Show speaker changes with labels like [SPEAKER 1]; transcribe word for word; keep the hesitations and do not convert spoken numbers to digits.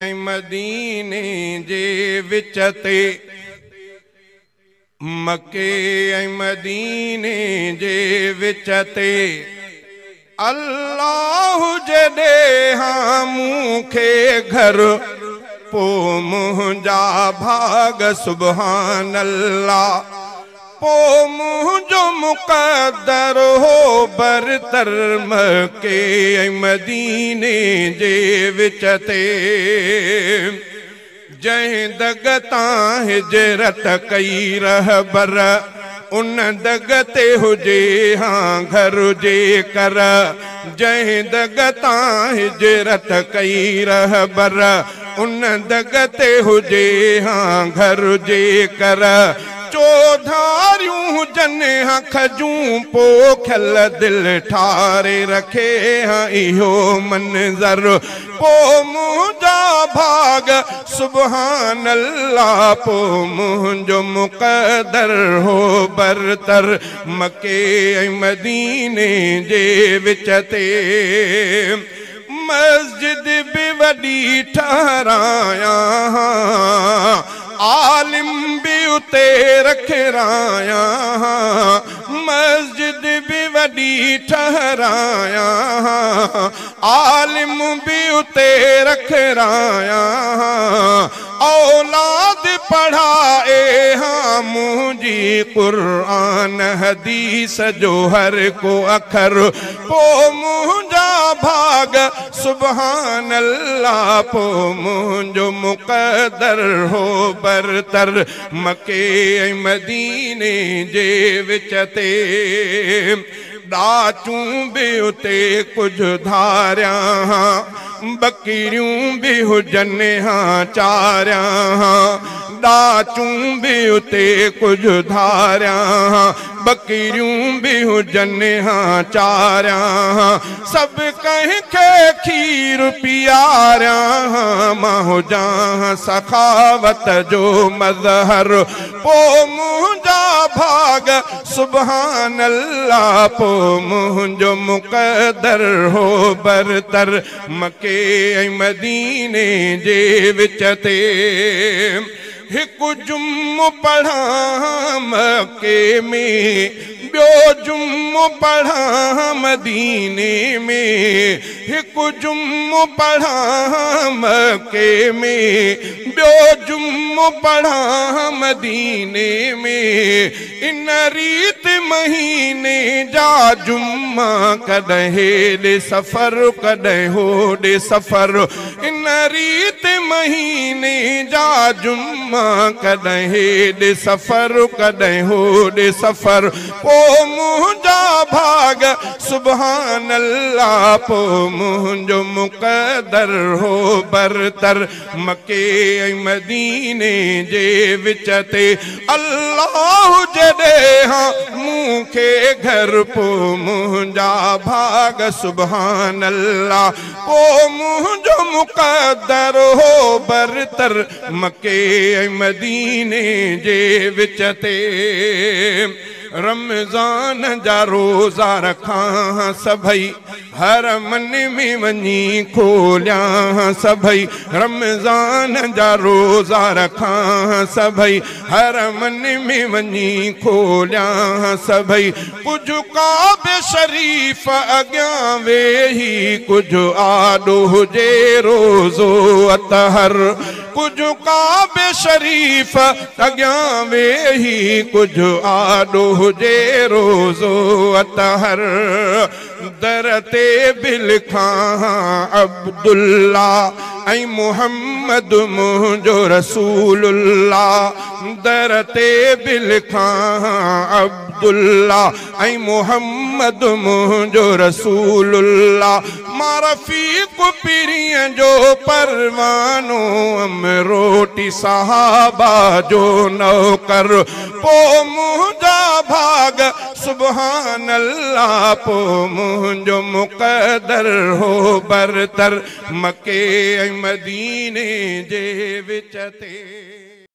[SPEAKER 1] मदीने जे विच ते, मके ऐं मदीने जे विच ते, अल्लाह जॾहिं मूंखे घर पो मुंहिंजा भाग सुभान अल्लाह, पो मुंहिंजो मुक़दर हो बरतर मके ऐं मदीने जे विच ते। जंहिं दग तां हिजरत कई रहबर, उन दग ते हुजे हा घर जे कर। जंहिं दग तां हिजरत कई रहबर, उन दग ते हुजे हा घर जे कर। चौधारियूं जन हा खजूं पोखियल दिल ठारे रखे हा इहो मंज़र, पो मुंहिंजा भाग सुभान अल्लाह, पो मुंहिंजो मुक़दर हो बरतर मके ऐं मदीने जे विच ते। मस्जिद बि वॾी ठहिरायां, आलिम बि उते रखरायां, मस्जिद बि वॾी ठहिरायां, आलिम बि उते रखरायां। औलाद पढ़ाए हा मुंहिंजी क़ुरान हदीस जो हर को अखर, पो मुंहिंजा भाग सुभान अल्लाह, पो मुंहिंजो मुक़दर हो बरतर मके ऐं मदीने जे विच ते। ॾाचूं बि उते कुझु धारियां, बकरियूं बि हुजनि हा चारियां, ॾाचूं बि उते कुझु धारियां, बकरियूं बि हुजनि हा चारियां। सभु कंहिंखे खीर पीआरियां, मां हुजां सखावत जो मज़हर, पो मुंहिंजा भाग सुभान अल्लाह, पो मुंहिंजो मुक़दर हो बरतर मके ऐं मदीने जे विच ते। हिकु जुम्मो पढ़ां मके में, ॿियो जुम्मो पढ़ां मदीने में, हिकु जुम्मो पढ़ां मके में, ॿियो जुम्मो पढ़ां मदीने में। इन रीत महीने जा जुम्मा, कॾहिं हेॾे सफ़र कॾहिं होॾे सफ़र, इन रीत महीने जा जुम्मा, कॾहिं हेॾे सफ़र कॾहिं होॾे सफ़र। पो मुंहिंजा भाग सुभान अल्लाह, पो मुंहिंजो मुक़दर हो बरतर मके ऐं मदीने जे विच ते। अल्लाह जॾहिं मूंखे घर, पो मुंहिंजा भाग सुभान अल्लाह, पो मुंहिंजो मुक़दर हो बरतर मके ऐं मदीने जे विच ते। रमज़ान जा रोज़ा रखां सभई, हरमन में वञी खोलियां सभई, रमज़ान जा रोज़ा रखां सभई, हरमन में वञी खोलियां सभई। कुझु काबे शरीफ़ अॻियां वेही, कुझु आॾो हुजे रोज़ो अतहर, कुझु काबे शरीफ़ अॻियां वेही, कुझु आॾो हुजे रोज़ो अतहर। दर ते बि लिखां अब्दुल्ला ऐं मोहम्मद मुंहिंजो रसूलुल्लाह, दर ते बि लिखां अब्दुल्ला ऐं मोहम्मद मुंहिंजो रसूलुल्लाह। मां रफ़ीक़ पीरीअ जो परवानो, अमरोटी सहाबा जो नौकर, पो मुंहिंजा भाग सुभान अल्लाह, पो मुंहिंजो मुक़दर हो बरतर मके ऐं मदीने जे विच ते।